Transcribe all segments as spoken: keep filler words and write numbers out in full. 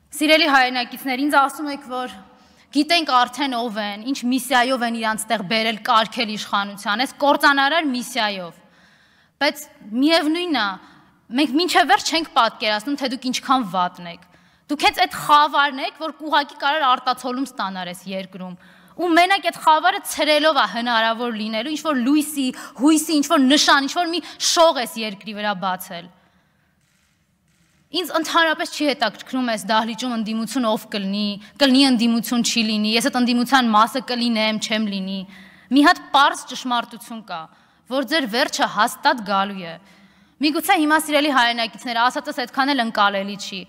Սիրելի հայրենակիցներ, ինձ ասում եք, որ գիտենք արդեն ով են, ինչ միսիայով են իրանց տեղ բերել կարգել իշխանության, այս կործանարար միսիայով։ Բայց միևնույնն է, մենք մինչև վերջ չենք պատկերացնում, թե դուք ինչքան վատն եք։ Դուք հենց այդ խավարն եք, որ ուղղակի կարող արտացոլում ստանար այս երկրում։ Ու մենակ այդ խավարը ցրելով է հնարավոր լինելու, ինչ որ լույսի, հույսի, ինչ որ նշան, ինչ որ մի շող էս երկրի վրա բացել։ Ինձ ընդհանրապես չի հետաքրքրում այս դահլիճում ընդդիմություն ով կլինի, կլինի ընդդիմություն չի լինի, ես այդ ընդդիմության մասը կլինեմ, չեմ լինի։ Մի հատ պարզ ճշմարտություն կա, որ ձեր վերջը հաստատ գալու է։ Միգուցե հիմա սիրելի հայրենակիցներ, ասածս այդքան էլ ընկալելի չի,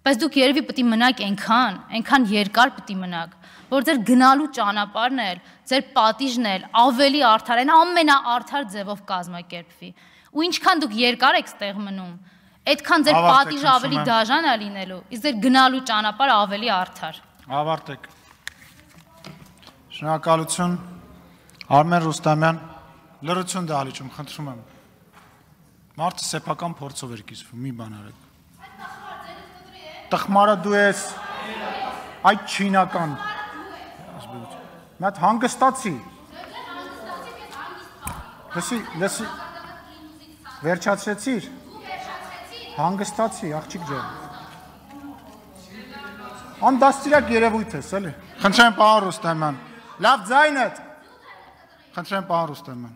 բայց դուք երևի պետք է մնաք այնքան, այնքան երկար պետք է մնաք, որ ձեր գնալու ճանապարհն էլ, ձեր պատիժն էլ ավելի արդար, այն ամենաարդար ձևով կազմակերպվի։ Ու ինչքան դուք երկար եք ստեղ մնում, այդքան ձեր պատիժը ավելի դաժան է լինելու, իսկ ձեր գնալու ճանապարհը ավելի արդար։ Ավարտեք։ Շնորհակալություն, Արմեն Ռուստամյան, լրություն դահլիճում, խնդրում եմ։ Մարդը սեփական փորձով էր կիսվում, մի բան արեք։ Տխմարը դու ես, այդ չինական։ Մի հատ հանգստացի։ Լսի, լսի, վերջացրեցիր։ Հանգստացի, աղջիկ ջան։ Անդաստիրակ երևույթ ես, էլի։ Խնդրեմ պարոն Ռուստամյան։ Լավ ձայնդ։ Խնդրեմ պարոն Ռուստամյան։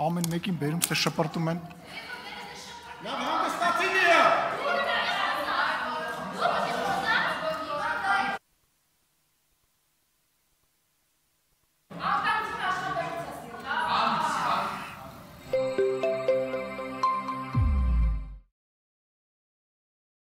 Ամեն մեկին բերում թե շպրտում են։ Լավ հանգստացի։